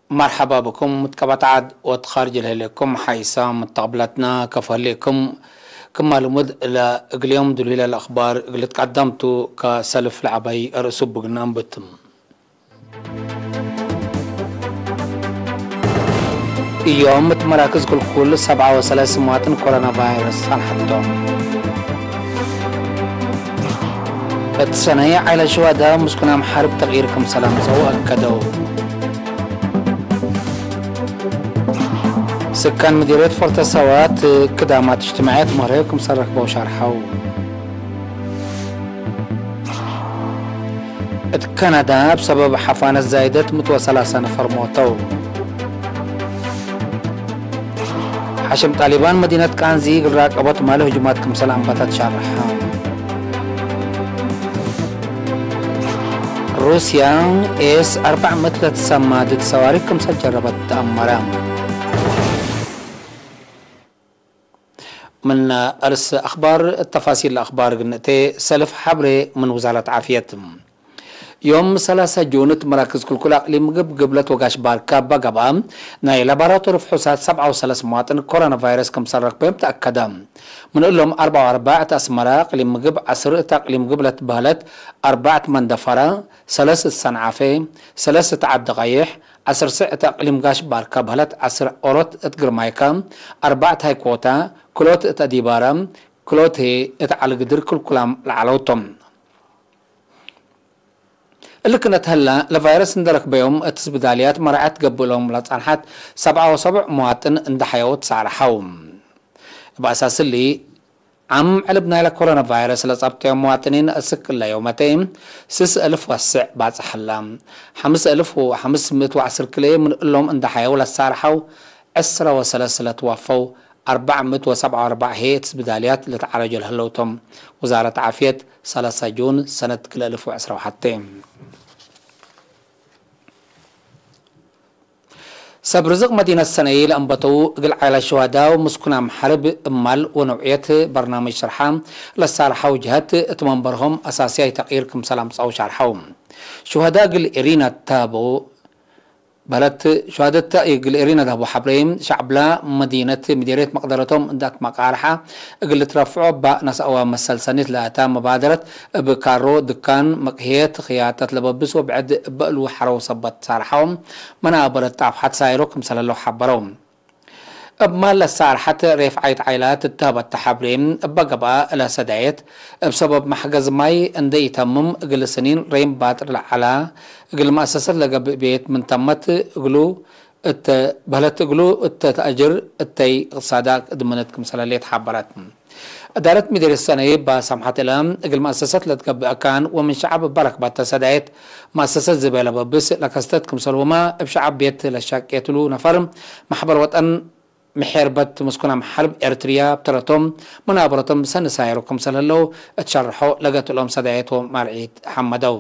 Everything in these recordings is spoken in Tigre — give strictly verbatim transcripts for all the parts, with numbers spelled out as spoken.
መርሐባ ብኩም። ምትቀበጥ ዐድ ወትካርጅ ለህሌኩም ሓይሳም ምተቅብለትና ከፎ ህሌኩም። ክማ ልሙድ ለእግል ዮም ድልሁይ ለለአክባር እግል ልትቀደም ቱ። ከሰልፍ ለዐባይ ርእሱ ብግና እንብትም። እዮም እት መራክዝ ክልኩል ሰብዓ ወሰለስ መዋጥን ኮሮና ቫይረስ ጸንሐቶም። እት ሰነይ ዓይለ ሽዋዳ ምስኩናም ሐርብ ተቅይር ክምሰል አምጸው አከደው። ስካን ምዲርየት ፎርተ ሰዋት ክዳማት እጅትማዕየት መርሀው ክምሰል ረክበው ሸርሐው። እት ከናዳ፣ እብ ሰበብ ሐፋነት ዛይደት ምት ወሰላሳ ነፈር ሞተው። ሐሽም ጣሊባን መዲነት ቃንዚ እግል ራቀቦት ማለ ህጁማት ክምሰል አንበተት ሸርሐ። ሩስያ ኤስ አርበዕ ምእት ለትሰማ ድድ ሰዋሪክ ክምሰል ጀረበት ተአመረ። ምን አርስ አክባር፣ ተፋሲል ለአክባር ግንእቴ፣ ሰልፍ ሐብሬ ምን ውዛረት ዓፍየት። ዮም ሰላሳ ጁን እት መራክዝ ክልኩል አቅሊም ምግብ ግብለት ወጋሽ ባርካ እበ ገብአ፣ ናይ ላቦራቶሪ ፍሑሳት ሰብዓ ወሰለስ መዋጥን ኮሮና ቫይረስ ክምሰል ረክበዮም ተአከደ። ምን እሎም አርበዕ ወአርበዕ እት አስመረ፣ አቅሊም ምግብ ዐስር እት አቅሊም ግብለት በህለት፣ አርበዕ እት መንደፈረ፣ ሰለስ እት ሰንዓፌ፣ ሰለስ እት ዐዲ ቀይሕ፣ ዐስር ስዕ እት አቅሊም ጋሽ ባርካ በህለት፣ ዐስር ኦሮት እት ግርማይካ፣ አርበዕ እት ሃይኮታ፣ ክሎት እት አዲባረ፣ ክሎት ህይ እት ዐሊ ግድር ክልኩላም ለዐለው ቶም። እሊ ክነት ህለ፣ ለቫይረስ እንዴ ረክበዮም እት ስብዳልያት መራዐት ገብእ እሎም ለጸንሐት ሰብዓ ወሰቡዕ መዋጥን እንዴ ሐየው ትሳርሐው። እብ አሳስ እሊ፣ ዓም ዕልብ ናይለ ኮሮና ቫይረስ ለጸብጠዮም መዋጥኒን እስክ እለ ዮመቴ ስስ እልፍ ወስዕ ባጽሕ ህለ። ሐምስ እልፍ ወሐምስ ምእት ወዐስር ክልኤ ምን እሎም እንዴ ሐየው ለሳርሐው፣ ዕስረ ወሰለስ ለትወፈው፣ አርበዕ ምእት ወሰብዓ ወአርበዕ ህይ እት ስብዳልያት ለተዓረጆ ለህለው ቶም። ውዛረት ዓፍየት፣ ሰላሳ ጁን ሰነት ክልኤ እልፍ ወዕስረ ወሐቴ። ሰብ ርዝቅ መዲነት ሰነይ ለአንበተው እግል ዓይላት ሸዋዳ ወምስኩናም ሐርብ እማል ወነውዕየት በርናምጅ ሽርሓ ለሳርሐው ጀሀት እት መንበርሆም አሳስያይ ተቅይር ክምሰል አምጸአው ሻርሐው። ሸዋዳ እግል እሪና ተሀበው በህለት። ሸዋደት እግል እሪና ለሀቡ ሐብሬ፣ ሸዕብላ መዲነት ምዴርየት መቅደረቶም እንዴ አትመቃርሐ እግል ልትረፍዖ እበ ነስአወ መሰል ሰኒት ለአታ መባደረት እብ ካሮ፣ ድካን፣ መቅህየት፣ ክያጠት ለበብስ ወብዕድ እበ እሉ ሐረው ሰበት ሳርሐው መናበረት ጣፍሐት ሳይሮ ክምሰል ህለው ሐበረው። እብ ማል ለሳርሐት ሬፍዓይት ዓይላት እተሀበተ ሐብሬ እበ ገብአ፣ እለ ሰዳየት እብ ሰበብ መሕገዝ ማይ እንዴ ኢተምም እግል ስኒን ሬም ባጥር ለዐላ እግል መአሰሰት ለገብእ ቤት ምን ተመት እግሉ እተ በህለት እግሉ እተ ተአጅር እተይ እቅትሳዳ እድምነት ክምሰለ ሌት ሐበረት። እዳረት ምዴርየት ሰነይ እበ ሰምሐት እለ፣ እግል መአሰሰት ለትገብእ አካን ወምን ሸዐብ እበ ረክበተ ሰዳየት መአሰሰት ዝቤ ለበብስ ለከስተት ክምሰልሁመ፣ እብ ሸዐብ ቤት ለሻቄትሉ ነፈር መሕበር ወጠን ምሔርበት ምስኩናም ሐርብ ኤርትርያ ብተረቶም መናበረቶም ሰኒ ሳይሮ ክምሰል ህለው እት ሸርሖ ለገት እሎም ሰዳየት ወማልዒት ሐመደው።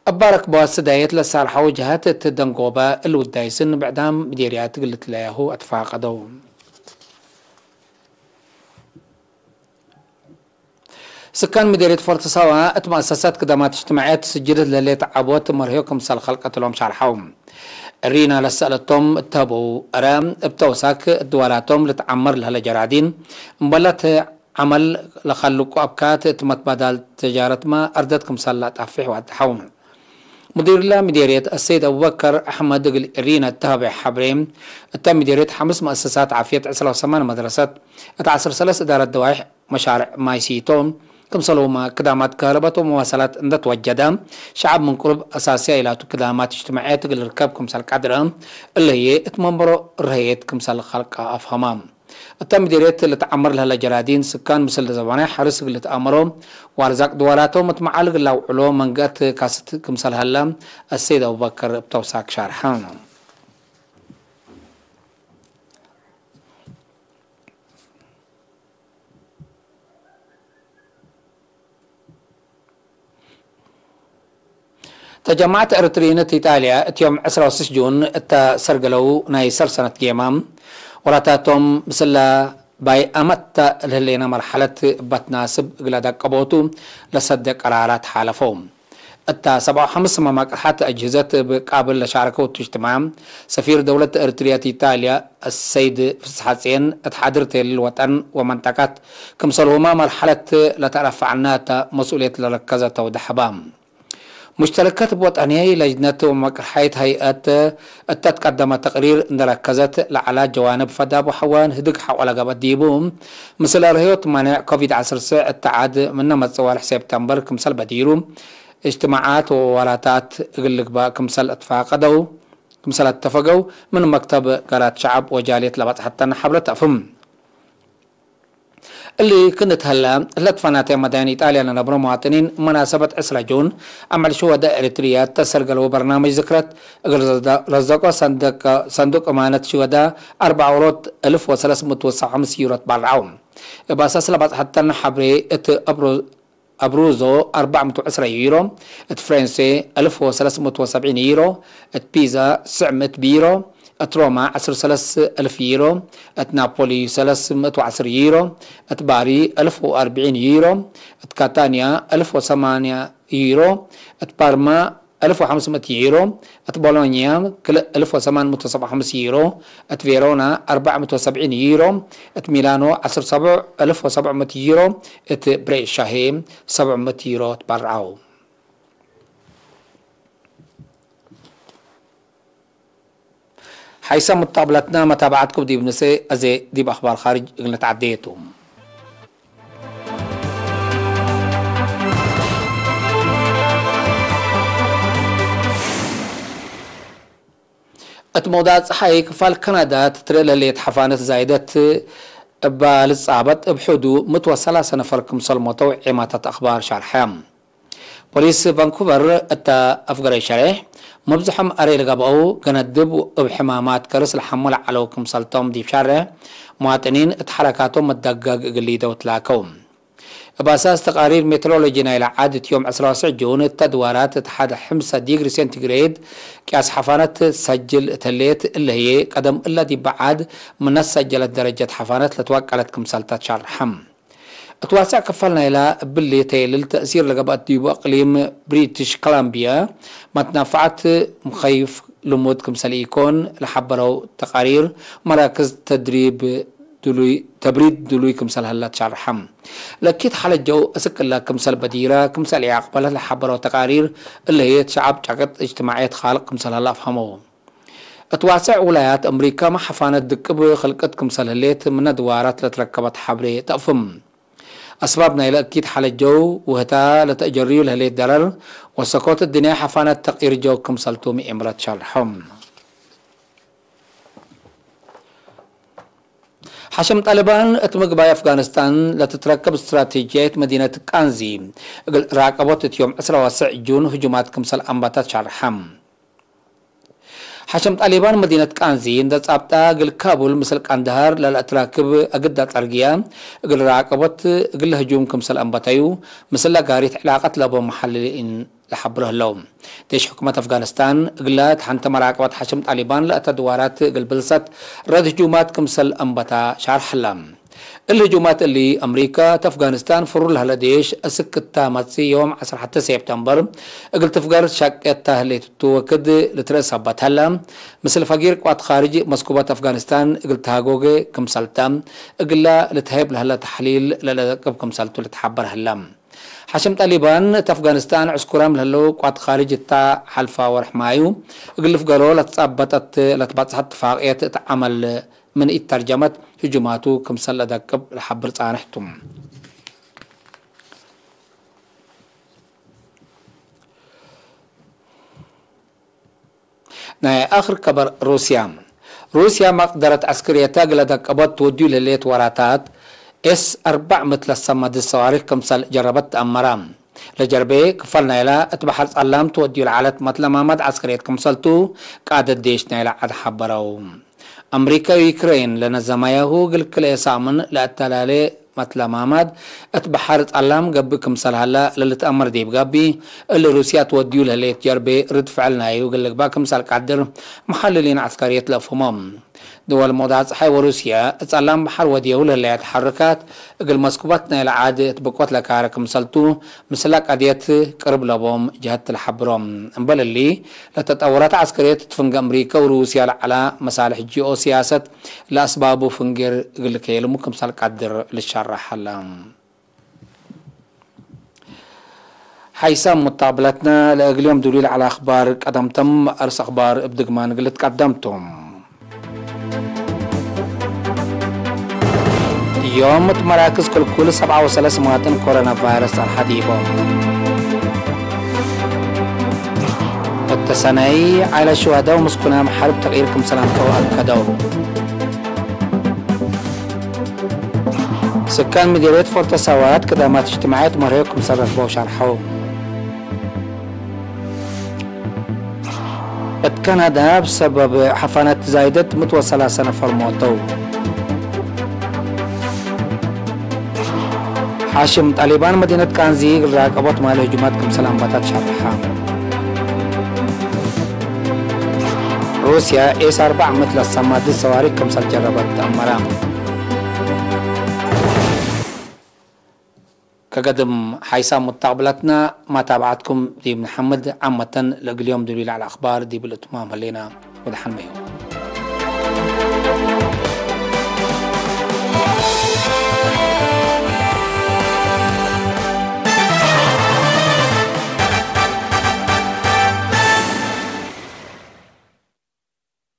እበ ረክበዋት ሰዳየት ለሳርሐው ጀሀት እት ደንጎበ እሊ ውዳይስን ብዕዳም ምዴርያት እግል ልትለያሁ አትፋቀደው። ስካን ምዴርየት ፎርት ሳዋ እት መአሰሳት ክዳማት እጅትማዕየት ስጅልት ለህሌት ዐቦት መርህዮ ክምሰል ከልቀት እሎም ሻርሐው። እሪና ለሰአለቶም እተሀበው እረ፣ እብ ተውሳክ እት ድዋላቶም ልትዓመር ለህለ ጀራዲን እምበለት ዐመል ለከልቁ አብካት እት መትባዳል ተጃረትመ አርደት ክምሰል ለአጣፍሕ ወአድሐው። ሙዲርለ ምዴርየት አሰይድ አቡበከር አሕመድ እግል እሪነ እተሀቤ ሐብሬ፣ እተ ምዴርየት ሐምስ መአሰሳት ዓፍየት፣ ዕስራ ወሰማን መድረሰት፣ እት ዐስር ሰለስ እዳረት ደዋይሕ መሻርዕ ማይ ሲቶ፣ ክምሰልሁመ ክዳማት ከህረበት ወመዋሰላት እንደ ትወጀደ፣ ሸዐብ ምን ቅሩብ አሳስያይ ላቱ ክዳማት እጅትማዕየት እግል ልርከብ ክምሰል ቀድረ፣ እለ ህዬ እት መንበሮ ረሀየት ክምሰል ከልቀ አፍሀመ። እተ ምዴርየት ልትዓመር ለህለ ጀራዲን ስካን ምስል ዘበናይ ሐርስ እግል ልትአመሮ ወአርዛቅ ድዋላቶም እት መዓል እግል ለአውዕሎ መንገአት ካስት ክምሰል ሀለ አሰይድ አቡበከር እብ ተውሳክ ሻርሐ። ተጀማዐት ኤረትርዪን እት ኢጣልያ እት ዮም ዕስራ ወስስ ጁን እተ ሰርገለው ናይ ሰልሰነት ጌማ፣ ወላታቶም ምስለ ባይ አመት ለህሌነ መርሐለት እበ ትናስብ እግለ ደቀቦቱ ለሰደ ቀራራት ሓለፈው። እታ ሰብዓ ወሐምስ መማቅርሓት አጅህዘት እብ ቃብል ለሻረከው እቱ እጅትማዕ፣ ሰፊር ደውለት ኤረትርያ እት ኢጣልያ አሰይድ ፍስሐጼን፣ እት ሓድር ቴልል ወጠን ወመንጠቀት ክምሰልሁመ መርሐለት ለተአረፈዐነ እተ መስኡልየት ለረከዘ ተውደሐ በ። ሙሽተረከት እብ ወጠንየይ ለጅነት ወመቅርሐይት ሀይአት እተ ትቀደመ ተቅሪር እንዴ ረከዘት፣ ለዐላ ጀዋንብ ፈዳብ ወሐዋን ህድግ ሐቆ ለገብአት ዲቡ፣ ምስል አርህዮት ማኔዕ ኮቪድ ዐስር ስዕ እተ ዐድ ምነ መጽእ ወርሕ ሴፕተምበር ክምሰል በዲሩ፣ እጅትማዓት ወወራታት እግል ልግባእ ክምሰል አትፋቀደው፣ ክምሰል አተፈገው፣ ምን መክተብ ገራት ሸዐብ ወጃልየት ለበጽሐተነ ሐብረት ተአፍም። እሊ ክእነ እት ሀለ፣ እለ እት ፈናተ መዳይን ኢጣልያ ለነብሮ መዋጥኒን፣ መናሰበት ዕስረ ጁን፣ አምዕል ሽወዳ ኤረትርያ ተሰርገለው በርናምጅ ዝክረት እግል ረዘቆ ሰንደቅ፣ ሰንዱቅ እማነት ሽወዳ፣ አርበዕ ወሮት እልፍ ወሰለስ ምእት ወሰብዓ ወሐምስ ዩሮ ትበረዐው። እብ አሳስ ለበጽሐተነ ሐብሬ፣ እት አብሮ አብሩዞ አርበዕ ምእት ወዕስረ ዩሮ፣ እት ፍሬንሴ አልፍ ወሰለስ ምእት ወሰብዒን ዩሮ፣ እት ፒዛ ትስዕ ምእት ዩሮ፣ እት ሮማ ዐስር ወሰለስ አልፍ ዩሮ፣ እት ናፖሊ ሰለስ ምእት ወዐስር ዩሮ፣ እት ባሪ አልፍ ወአርብዒን ዩሮ፣ እት ካታንያ አልፍ ወሰማንያ ዩሮ፣ እት ፓርማ አልፍ ወሐምስ ምእት ዩሮ፣ እት ቦሎኛ ክልእ አልፍ ወሰማን ምእት ወሰብዓ ወሐምስ ዩሮ፣ እት ቬሮና አርበዕ ምእት ወሰብዒን ዩሮ፣ እት ሚላኖ ዐስር ሰብዕ አልፍ ወሰብዕ ምእት ዩሮ፣ እት ብሬሻ ህዬ ሰብዕ ምእት ዩሮ ትበርዐው። ሐይሰ ሙጣብለትነ መታብዐትኩም ዲብ ንሴ፣ አዜ ዲብ አኽባር ካርጅ እግል ንትዐዴ ቱ። እት መውዳዕ ጸሓይ፣ ክፋል ካናዳ ትትርኤ ለህሌት ሐፋነት ዛይደት እባ ልጻበጥ፣ እብ ሕዱ ምእት ወሰላሰ ነፈር ክምሰል ሞተው ዔማታት አኽባር ሻርሐ። ፖሊስ ቫንኩቨር እተ አፍገረይ ሸሬሕ፣ መብዝሖም አሬ ለገብአው ገነድብ እብ ሕማማት ከርስ ለሐሙ ለዐለው ክምሰልቶም ዲብ ሻሬሕ፣ መዋጥኒን እት ሐረካቶም መደገግ እግል ሊደው ትላከው። እብ አሳስ ተቃሪር ሜትሮሎጂ ናይለ ዐድ፣ እት ዮም ዕስራ ወትስዕ ጁን እተ ድዋራት እት ሐድ ሕምሰ ዲግሪ ሴንቲግሬድ ቅያስ ሐፋነት ትሰጅል እት ህሌት፣ እለ ህዬ ቀደም እለ ዲበ ዐድ ምነ ሰጀለት ደረጀት ሐፋነት ለትወቀለት ክምሰልታ ትሸርሐም። እት ዋስዕ ክፋል ናይላ እብሊ ተየልል ተእሲር ለገብአት ዲቡ እቅሊም ብሪትሽ ኮሎምቢያ መትናፈዐት ሙኸይፍ ልሙድ ክምሰል ኢኮን ለሐበረው ተቃሪር፣ መራክዝ ተድሪብ ድሉይ፣ ተብሪድ ድሉይ ክምሰል ሀላ ትሸርሐም። ለእኪት ሐለት ጀው እስክ እለ ክምሰል በዲረ ክምሰል ኢአቅበለት ለሐበረው ተቃሪር፣ እለ ህዬ እት ሸዐብ ጨቅጥ እጅትማዕየት ካልቅ ክምሰል ሀላ አፍሀመው። እት ዋስዕ ውላያት አምሪከመ ሐፋነት ድቅብ ክልቅት ክምሰል ህሌት ምነ ድዋራት ለትረከበት ሐብሬ ተአፍም። አስባብ ናይለ እኪት ሐለት ጀው ወህታ ለተአጀርዩ ለህሌት ደረር ወሰኮት እድንያ ሐፋነት ተቅይር ጀው ክምሰልቱ ምኤምረት ሸርሖም። ሐሸም ጣሊባን እት ምግባይ አፍጋኒስታን ለትትረከብ እስትራቴጅያይት መዲነት ቃንዚ እግል ራቀቦት እት ዮም ዕስራ ወትስዕ ጁን ህጁማት ክምሰል አንበታት ሸርሐም። ሐሸም ጣሊባን መዲነት ቃንዚ እንዴ ጻብጣ፣ እግል ካቡል ምስል ቃንዳሃር ለለአትራክብ አግዳ ጸርግያ እግል ራቀቦት እግል ህጁም ክምሰል አንበተዩ፣ ምስለ ጋሪት ዕላቀት ለቦ መሐልሊን ለሐብሮ ህለው። ዴሽ ሕኩመት አፍጋኒስታን እግለ ተሐንተ መራቀበት ሐሸም ጣሊባን ለአተ ድዋራት እግል ብልሰት ረድ ህጁማት ክምሰል አንበታ ሻርሕ ህለ። እሊ ህጁማት እሊ፣ አምሪካ እት አፍጋኒስታን ፍሩር ለህለ ዴሽ እስክ እታ መጽእ ዮም ዐስር ሐተ ሴፕተምበር እግል ትፍገር ሻቄት ተ ህሌት ቱ ወክድ ልትርእ ሰበት ሀለ። ምስል ፈጊር ቅዋት ካርጅ መስኩበት አፍጋኒስታን እግል ተሃጎገ ክምሰልተ፣ እግላ ልትሀይብ ለህለ ተሕሊል ለለደቅብ ክምሰልቱ ልትሐበር ሀለ። ሐሽም ጣሊባን እት አፍጋኒስታን ዕስኩራም ለህለው ቅዋት ካርጅ እታ ሐልፋ ወርሕ ማዩ እግል ልፍገሮ ለትጻበጠት ለትበጽሐት ትፋቅየት እት ዐመል ምን ኢተርጀመት ህጁማቱ ክምሰል ለደቅብ ለሐብር ጻንሕ ቱ። ናይ አክር ከበር ሩስያ። ሩስያ መቅደረት ዐስክርየተ እግለ ደቀቦት ትወድዩ ለህሌት ወራታት ኤስ አርበዕ ምእት ለሰመ ድድ ሰዋሪክ ክምሰል ጀረበት ተአመረ። ለጀርቤ ክፈል ናይላ እት በሐር ጸላም ትወድዩ ለዐለት መትለማማት ዐስክርየት ክምሰልቱ ቃደት ዴሽ ናይላ ዐድ ሐበረው። አምሪከ ወዩክሬን ለነዘማያሁ እግል ክልኤ ሳምን ለአተላሌ መትለማማት እት በሐር ጸላም ገብእ ክምሰል ሀላ ለልትአመር ዲብ ጋቢ፣ እሊ ሩስያ ትወድዩ ለህሌት ጀርቤ ርድ ፍዕል ናዩ እግል ልግባእ ክምሰል ቀድር መሐልሊን ዐስከርየት ለአፍህሞም። ድወል ሙቅዳር ጸሓይ ወሩስየ እት ጸላም በሐር ወድየው ለህለየ ተሐርካት፣ እግል መስኩባት ናይለ ዓድ እት ብቆት ለካረ ክምሰልቱ፣ ምስለ ቀድየት ቅርብ ለቦም ጀሀት ለሐብሮም። እምበል እሊ፣ ለተጠወረት ዐስከርየት እት ፍንጌ አምሪከ ወሩስየ ለዐላ መሳልሕ ጂኦ ሲያሰት ለአስባቡ ፍንጌር እግል ልከየልሙ ክምሰል ቀድር ልሸረሕ ሀለ። ሓይሳም ሙታብለትነ ለእግል ዮም ዱሊ ለዐለ አኽባር ቀደምቶም። አርስ አኽባር እብ ድግማን እግል ልትቀደም ቶም። ዮም እት መራክዝ ክልኩል ሰብዓ ወሰለስ መዋጥን ኮሮና ቫይረስ ጸንሐት ኢቦም። እተ ሰነይ ዓይለ ሹሀደው ምስኩናም ሐርብ ተቅይር ክምሰል አምጸው አከደው። ስካን ምዴርየት ፎርተ ሳዋት ክዳማት እጅትማዕየት መርሄው ክምሰል ረክበው ሸርሐው። እት ካናዳ፣ እብ ሰበብ ሐፋነት ዛይደት ምት ወሰላሰ ነፈር ሞተው። ሓሽም ጣሊባን መዲነት ቃንዚ እግል ራቀቦት ማለ ህጁማት ክምሰል አንባታት ሸርሐ። ሩስያ ኤስ አርበዕ ምት ለሰማድት ሰዋሪክ ክምሰል ጀረበት ተአመረ። ከገድም ሓይሳም ሙታቅብላትና ማታብዓትኩም ዲብ ንሐምድ። ዓመተን ለእግል ዮም ዱሊ ለዐለ አኽባር ዲብ ልእትማም ህሌና። ወደሐን መዮም።